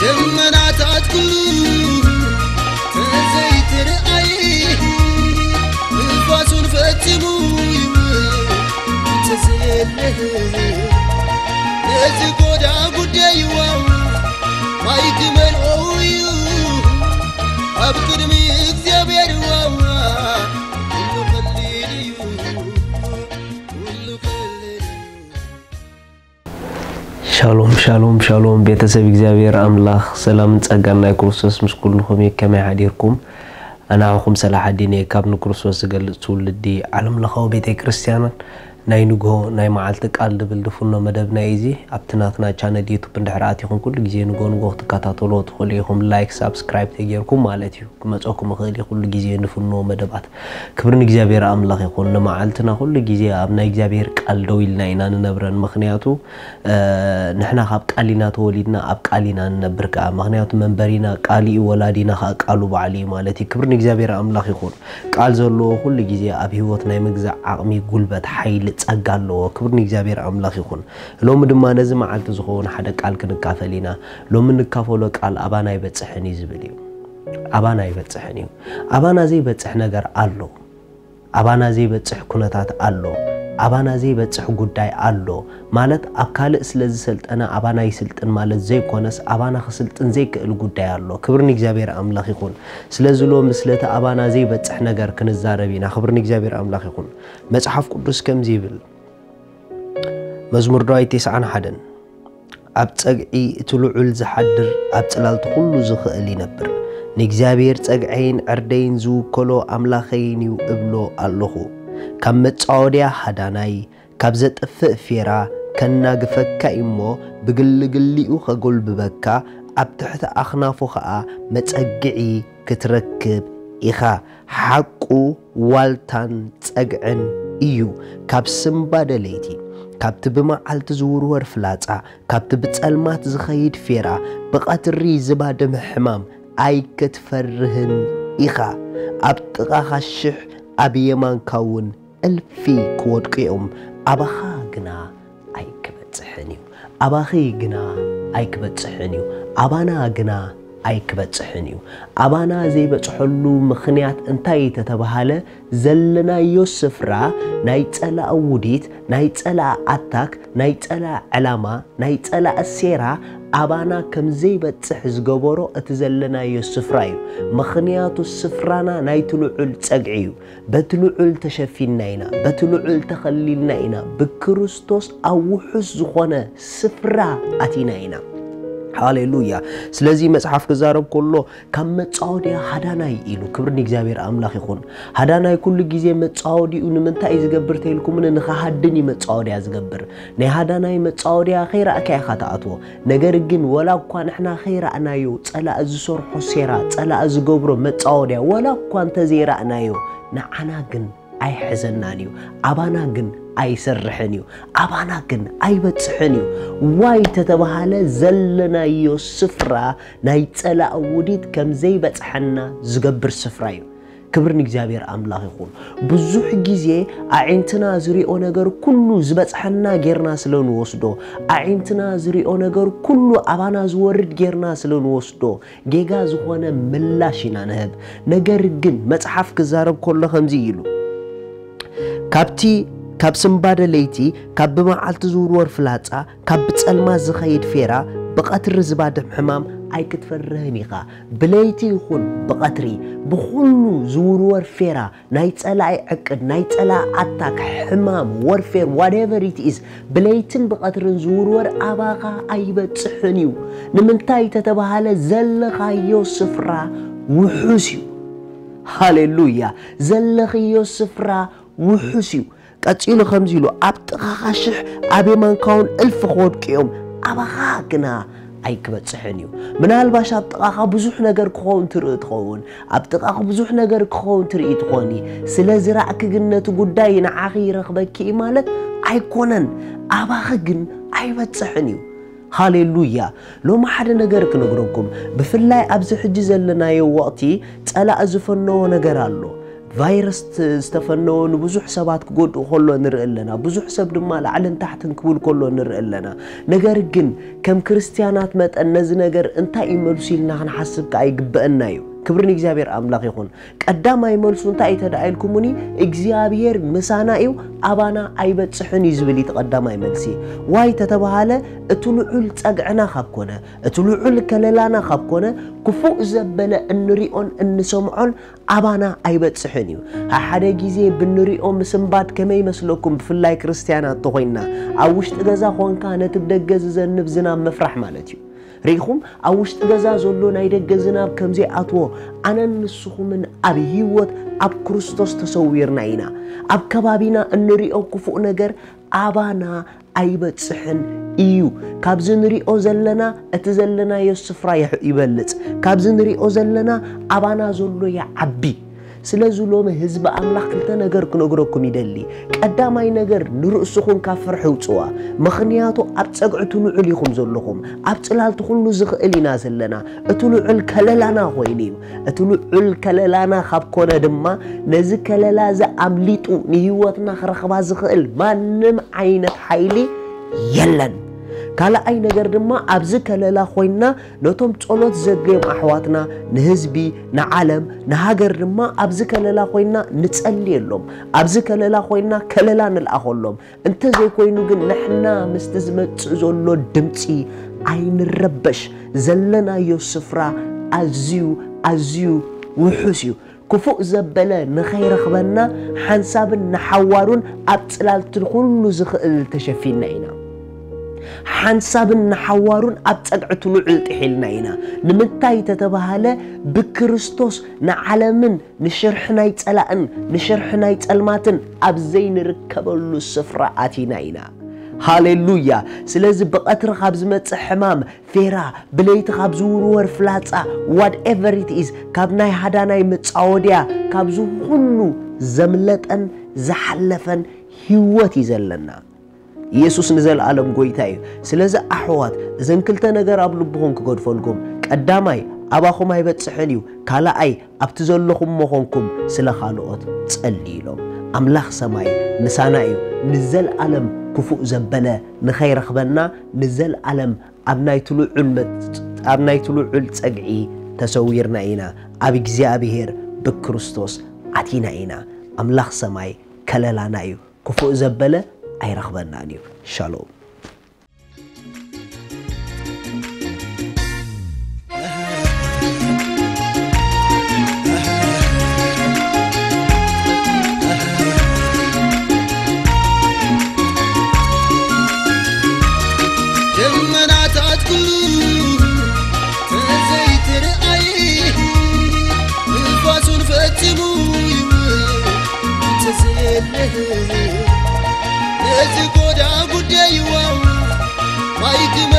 ደመናታት ኩሉ ተዘይትርኣይ፣ ንፋሱን ፈጺሙ ይውል ተዘየለ። ነዚ ጎዳ ጉዳይ ዋዋ ማይ ክመልኦ እዩ ኣብ ቅድሚ እግዚኣብሔር ዋዋ። ኩሉ ቀሊል እዩ፣ ኩሉ ቀሊል እዩ። ሻሎም ሻሎም ሻሎም ቤተሰብ እግዚኣብሔር ኣምላኽ ሰላምን ጸጋን ናይ ክርስቶስ ምስ ኩልኹም እዩ። ከመይ ሓዲርኩም? ኣናኹም ሰላሓዲን እየ ካብ ንክርስቶስ ዝገልጽ ትውልዲ ዓለም ለኻዊ ቤተ ክርስቲያንን ናይ ንግሆ ናይ መዓልቲ ቃል ድብል ድፍኖ መደብና እዩ። እዚ ኣብቲ ናትና ቻነል ዩቱብ እንድሕር ኣቲኹም ኩሉ ግዜ ንግሆ ንግሆ ክትከታተልዎ ትኽእሉ ኢኹም። ላይክ ሳብስክራይብ ተጌርኩም ማለት እዩ። ክመፀኩም ይኽእል እዩ ኩሉ ግዜ ንፍንዎ መደባት። ክብሪ ንእግዚኣብሔር ኣምላኽ ይኹን። ንመዓልትና ኩሉ ግዜ ኣብ ናይ እግዚኣብሔር ቃል ደው ኢልና ኢና ንነብረን። ምኽንያቱ ንሕና ካብ ቃል ኢና ተወሊድና፣ ኣብ ቃል ኢና ንነብር ከዓ። ምኽንያቱ መንበሪና ቃል እዩ፣ ወላዲና ከዓ ቃሉ ባዕሉ እዩ ማለት እዩ። ክብሪ ንእግዚኣብሔር ኣምላኽ ይኹን። ቃል ዘለዎ ኩሉ ግዜ ኣብ ህይወት ናይ ምግዛእ ዓቕሚ፣ ጉልበት፣ ሓይሊ፣ ጸጋ ኣለዎ። ክብሪ ንእግዚኣብሔር ኣምላኽ ይኹን። ሎሚ ድማ ነዚ መዓልቲ ዝኸውን ሓደ ቃል ክንካፈል ኢና። ሎሚ ንካፈሎ ቃል ኣባና ኣይበጽሕን እዩ ዝብል እዩ። ኣባና ኣይበጽሕን እዩ። ኣባና ዘይበጽሕ ነገር ኣሎ። ኣባና ዘይበጽሕ ኩነታት ኣሎ። ኣባና ዘይበጽሕ ጉዳይ ኣሎ። ማለት ኣብ ካልእ ስለ ዝሰልጠነ ኣባና ይስልጥን ማለት ዘይኮነስ ኣባና ክስልጥን ዘይክእል ጉዳይ ኣሎ። ክብሪ ንእግዚኣብሔር ኣምላኽ ይኹን። ስለዚ ሎሚ ስለቲ ኣባና ዘይበጽሕ ነገር ክንዛረብ ኢና። ክብሪ ንእግዚኣብሔር ኣምላኽ ይኹን። መጽሓፍ ቅዱስ ከምዚ ይብል። መዝሙር ዳዊት ተስዓን ሓደን ኣብ ጸግዒ እቲ ልዑል ዝሓድር ኣብ ጽላልቲ ኩሉ ዝኽእል ይነብር። ንእግዚኣብሔር ጸግዐይን ዕርደይን ዝውከሎ ኣምላኸይን እዩ እብሎ ኣለኹ። ካብ መጻወድያ ሃዳናይ፣ ካብ ዘጥፍእ ፌራ ከናግፈካ እሞ ብግልግሊኡ ከጎልብበካ ኣብ ትሕቲ ኣኽናፉ ኸኣ መጸግዒ ክትረክብ ኢኻ። ሓቁ ዋልታን ጸግዕን እዩ። ካብ ስምባደ ለይቲ፣ ካብቲ ብመዓልቲ ዝውርወር ፍላጻ፣ ካብቲ ብጸልማት ዝኸይድ ፌራ፣ ብቐትሪ ዝባድም ሕማም ኣይክትፈርህን ኢኻ። ኣብ ጥቓኻ ሽሕ ኣብ የማንካ እውን እልፊ ክወድቁ እዮም፣ ኣባኻ ግና ኣይክበጽሕን እዩ። ኣባኺ ግና ኣይክበጽሕን እዩ። ኣባና ግና ኣይክበጽሕን እዩ። ኣባና ዘይበጽሐሉ ምኽንያት እንታይ ተተባሃለ፣ ዘለናዮ ስፍራ ናይ ጸላእ ውዲት፣ ናይ ጸላእ ኣታክ፣ ናይ ጸላእ ዕላማ፣ ናይ ጸላእ ሴራ ኣባና ከም ዘይበጽሕ ዝገበሮ እቲ ዘለናዮ ስፍራ እዩ። ምኽንያቱ ስፍራና ናይቲ ልዑል ጸግዒ እዩ። በቲ ልዑል ተሸፊንና ኢና፣ በቲ ልዑል ተኸሊልና ኢና፣ ብክርስቶስ ኣብ ውሑስ ዝኾነ ስፍራ ኣቲና ኢና። ሃሌሉያ። ስለዚ መጽሓፍ ክዛረብ ከሎ ካብ መጻወድያ ሃዳናይ ኢሉ። ክብሪ ንእግዚኣብሔር ኣምላኽ ይኹን። ሃዳናይ ኩሉ ግዜ መጻወዲኡ ንምንታይ እዩ ዝገብር ተይልኩምኒ? ንኸሃድን እዩ መጻወድያ ዝገብር። ናይ ሃዳናይ መጻወድያ ከይረኣካ ኢኻ ትኣትዎ። ነገር ግን ወላ እኳ ንሕና ከይረኣናዮ ጸላእ ዝሰርሖ ሴራ፣ ጸላእ ዝገብሮ መጻወድያ ወላ እኳ እንተዘይረኣናዮ ንዓና ግን ኣይሕዘናን እዩ። ኣባና ግን ኣይሰርሕን እዩ። ኣባና ግን ኣይበጽሕን እዩ። ዋይ ተተባሃለ ዘለናዮ ስፍራ ናይ ጸላእ ውዲት ከም ዘይበጽሐና ዝገብር ስፍራ እዩ። ክብሪ ንእግዚኣብሔር ኣምላኽ ይኹን። ብዙሕ ግዜ ኣዒንትና ዝሪኦ ነገር ኩሉ ዝበጽሐና ጌርና ስለ ንወስዶ፣ ኣዒንትና ዝሪኦ ነገር ኩሉ ኣባና ዝወርድ ጌርና ስለ ንወስዶ፣ ጌጋ ዝኾነ ምላሽ ኢና ንህብ። ነገር ግን መጽሓፍ ክዛረብ ከሎ ከምዚ ኢሉ፣ ካብቲ ካብ ስምባደ ለይቲ፣ ካብ ብመዓልቲ ዝውርወር ፍላጻ፣ ካብ ብጸልማት ዝኸይድ ፌራ፣ ብቐትሪ ዝባድም ሕማም ኣይክትፈርህን ኢኻ። ብለይቲ ይኹን ብቐትሪ፣ ብኹሉ ዝውርወር ፌራ፣ ናይ ጸላኢ ዕቅድ፣ ናይ ጸላኢ ኣታክ፣ ሕማም፣ ወርፌር፣ whatever it is፣ ብለይትን ብቐትርን ዝውርወር ኣባኻ ኣይበጽሕን እዩ። ንምንታይ ተተባሃለ ዘለኻዮ ስፍራ ውሑስ እዩ። ሃሌሉያ። ዘለኽዮ ስፍራ ውሑስ እዩ። ቀጺሉ ከምዚ ኢሉ፣ ኣብ ጥቓኻ ሽሕ ኣብ የማንካ እውን እልፊ ክወድቁ እዮም፣ ኣባኻ ግና ኣይክበጽሕን እዩ። ምናልባሽ ኣብ ጥቓኻ ብዙሕ ነገር ክኸውን ትርኢ ትኸውን፣ ኣብ ጥቓኺ ብዙሕ ነገር ክኸውን ትርኢ ትኾኒ። ስለ ዝራእኪ ግን ነቲ ጉዳይ ንዓኺ ይረኽበኪ እዩ ማለት ኣይኮነን። ኣባኺ ግን ኣይበጽሕን እዩ። ሃሌሉያ። ሎሚ ሓደ ነገር ክነግረኩም፣ ብፍላይ ኣብዚ ሕጂ ዘለናዮ ወቕቲ ጸላእ ዝፈነዎ ነገር ኣሎ። ቫይረስ ዝተፈነወ ንብዙሕ ሰባት ክጎድእ ከሎ ንርኢ ኣለና። ብዙሕ ሰብ ድማ ላዕልን ታሕትን ክብል ከሎ ንርኢ ኣለና። ነገር ግን ከም ክርስትያናት መጠን ነዚ ነገር እንታይ እዩ መልሱ ኢልና ክንሓስብ ከኣ ይግበአና እዩ። ክብሪ ንእግዚኣብሔር ኣምላኽ ይኹን። ቀዳማይ መልሱ እንታይ እዩ ተደኣ ኢልኩምኒ፣ እግዚኣብሔር ምሳና እዩ፣ ኣባና ኣይበጽሕን እዩ ዝብል እዩ እቲ ቀዳማይ መልሲ። ዋይ ተተባሃለ፣ እቲ ልዑል ጸግዕና ካብ ኮነ፣ እቲ ልዑል ከለላና ካብ ኮነ፣ ክፉእ ዘበለ እንሪኦን እንሰምዖን ኣባና ኣይበጽሕን እዩ። ሓደ ግዜ ብንሪኦ ምስንባድ ከመይ ይመስለኩም? ብፍላይ ክርስትያናት ተኾይንና፣ ኣብ ውሽጢ ገዛ ኾንካ ነቲ ብደገ ዝዘንብ ዝናብ ምፍራሕ ማለት እዩ። ርኢኹም፣ ኣብ ውሽጢ ገዛ ዘሎ ናይ ደገ ዝናብ ከም ዘይኣትዎ፣ ኣነን ንስኹምን ኣብ ህይወት ኣብ ክርስቶስ ተሰዊርና ኢና። ኣብ ከባቢና እንሪኦ ክፉእ ነገር ኣባና ኣይበጽሕን እዩ። ካብዚ ንሪኦ ዘለና፣ እቲ ዘለናዮ ስፍራ ይሕ-፣ ይበልጽ። ካብዚ ንሪኦ ዘለና፣ ኣባና ዘሎ ይዓቢ። ስለዚ ሎሚ ህዝቢ ኣምላኽ ክልተ ነገር ክነግረኩም ይደሊ። ቀዳማይ ነገር ንርእስኹም ካብ ፍርሒ ውጽዋ። ምኽንያቱ ኣብ ጸግዒ እቲ ልዑል ኢኹም ዘለኹም። ኣብ ጽላልቲ ኩሉ ዝኽእል ኢና ዘለና። እቲ ልዑል ከለላና ኮይኑ እዩ። እቲ ልዑል ከለላና ካብ ኮነ ድማ ነዚ ከለላ እዚ ኣምሊጡ ንህይወትና ክረኽባ ዝኽእል ማንም ዓይነት ሓይሊ የለን። ካልኣይ ነገር ድማ ኣብዚ ከለላ ኮይንና ነቶም ጸሎት ዘድልዮም ኣሕዋትና፣ ንህዝቢ፣ ንዓለም፣ ንሃገር ድማ ኣብዚ ከለላ ኮይንና ንጸልየሎም። ኣብዚ ከለላ ኮይንና ከለላ ንልኣኸሎም። እንተዘይኮይኑ ግን ንሕና ምስቲ ዝመጽእ ዘሎ ድምጺ ኣይንረበሽ። ዘለናዮ ስፍራ ኣዝዩ፣ ኣዝዩ ውሑስ እዩ። ክፉእ ዘበለ ንኸይረኽበና ሓንሳብን ንሓዋሩን ኣብ ጽላልቲ ኩሉ ዝኽእል ተሸፊንና ኢና። ሓንሳብን ንሓዋሩን ኣብ ጸግዒ እቲ ልዑል ጥሒልና ኢና። ንምንታይ ተተባሃለ ብክርስቶስ ንዓለምን ንሽርሒ ናይ ጸላእን ንሽርሒ ናይ ጸልማትን ኣብ ዘይንርከበሉ ስፍራ ኣቲና ኢና። ሃሌሉያ። ስለዚ ብቐትሪ ካብ ዝመጽእ ሕማም፣ ፌራ፣ ብለይቲ ካብ ዝውርወር ፍላጻ፣ whatever it is፣ ካብ ናይ ሃዳናይ መጻወድያ፣ ካብዚ ኩሉ ዘምለጠን ዝሓለፈን ህይወት እዩ ዘለና። ኢየሱስ ንዘለኣለም ጎይታ እዩ። ስለዚ ኣሕዋት፣ እዘን ክልተ ነገር ኣብ ልብኹም ክገድፈልኩም፣ ቀዳማይ ኣባኹም ኣይበጽሕን እዩ፣ ካልኣይ ኣብቲ ዘለኹሞ ኾንኩም ስለ ካልኦት ጸልዩ ኢሎም። ኣምላኽ ሰማይ ምሳና እዩ። ንዘለኣለም ክፉእ ዘበለ ንኸይረኽበና፣ ንዘለኣለም ኣብ ናይቲ ልዑል መጽ-፣ ኣብ ናይቲ ልዑል ጸግዒ ተሰዊርና ኢና። ኣብ እግዚኣብሔር ብክርስቶስ ኣቲና ኢና። ኣምላኽ ሰማይ ከለላና እዩ። ክፉእ ዘበለ ኣይረኽበናን እዩ። ሻሎም። ደመናታት ኩሉ ተዘይትርኣይ፣ ንፋሱን ፈጺሙ ይውል ተዘየለ። ነዚ ጎዳ ጉዳይዋ ማይ ግመ